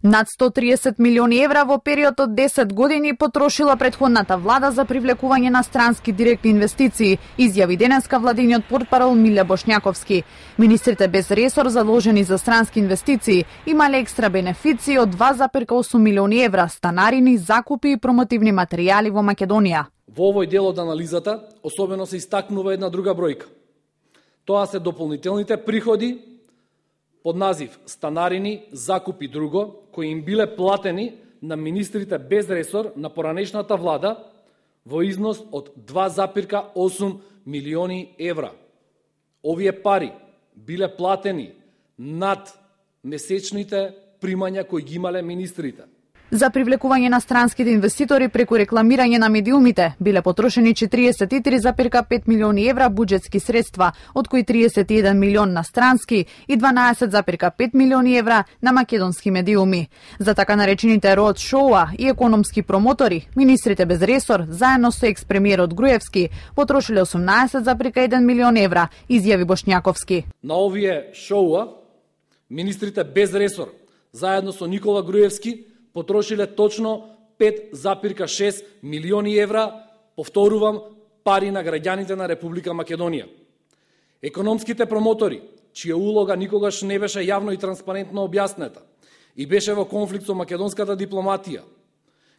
Над 130 милиони евра во период од 10 години потрошила претходната влада за привлекување на странски директни инвестиции, изјави денеска владиниот портпарол Миле Бошњаковски. Министрите без ресор заложени за странски инвестиции имале екстра бенефиции од 2,8 милиони евра, станарини, закупи и промотивни материјали во Македонија. Во овој дел од анализата особено се истакнува една друга бројка. Тоа се дополнителните приходи под назив станарини, закупи и друго, кои им биле платени на министрите без ресор на поранешната влада во износ од 2,8 милиони евра. Овие пари биле платени над месечните примања кои ги имале министрите. За привлекување на странските инвеститори преку рекламирање на медиумите биле потрошени 43,5 милиони евра буџетски средства, од кои 31 милион на странски и 12,5 милиони евра на македонски медиуми. За така наречените роад шоуа и економски промотори, министрите без ресор, заедно со екс-премиерот Груевски, потрошиле 18,1 милион евра, изјави Бошњаковски. На овие шоуа, министрите без ресор, заедно со Никола Груевски, потрошиле точно 5,6 милиони евра, повторувам, пари на граѓаните на Република Македонија. Економските промотори, чија улога никогаш не беше јавно и транспарентно објаснета и беше во конфликт со македонската дипломатија,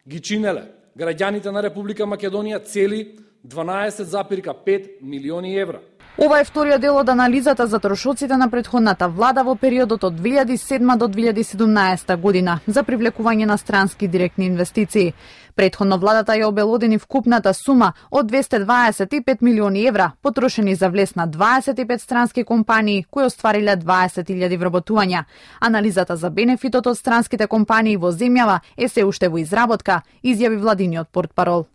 ги чинеле граѓаните на Република Македонија цели 12,5 милиони евра. Ова е вториот дел од анализата за трошоците на претходната влада во периодот од 2007 до 2017 година за привлекување на странски директни инвестиции. Претходно владата ја обелодени вкупната сума од 225 милиони евра, потрошени за влез на 25 странски компании кои оствариле 20.000 вработувања. Анализата за бенефитот од странските компании во земјава е се уште во изработка, изјави владиниот портпарол.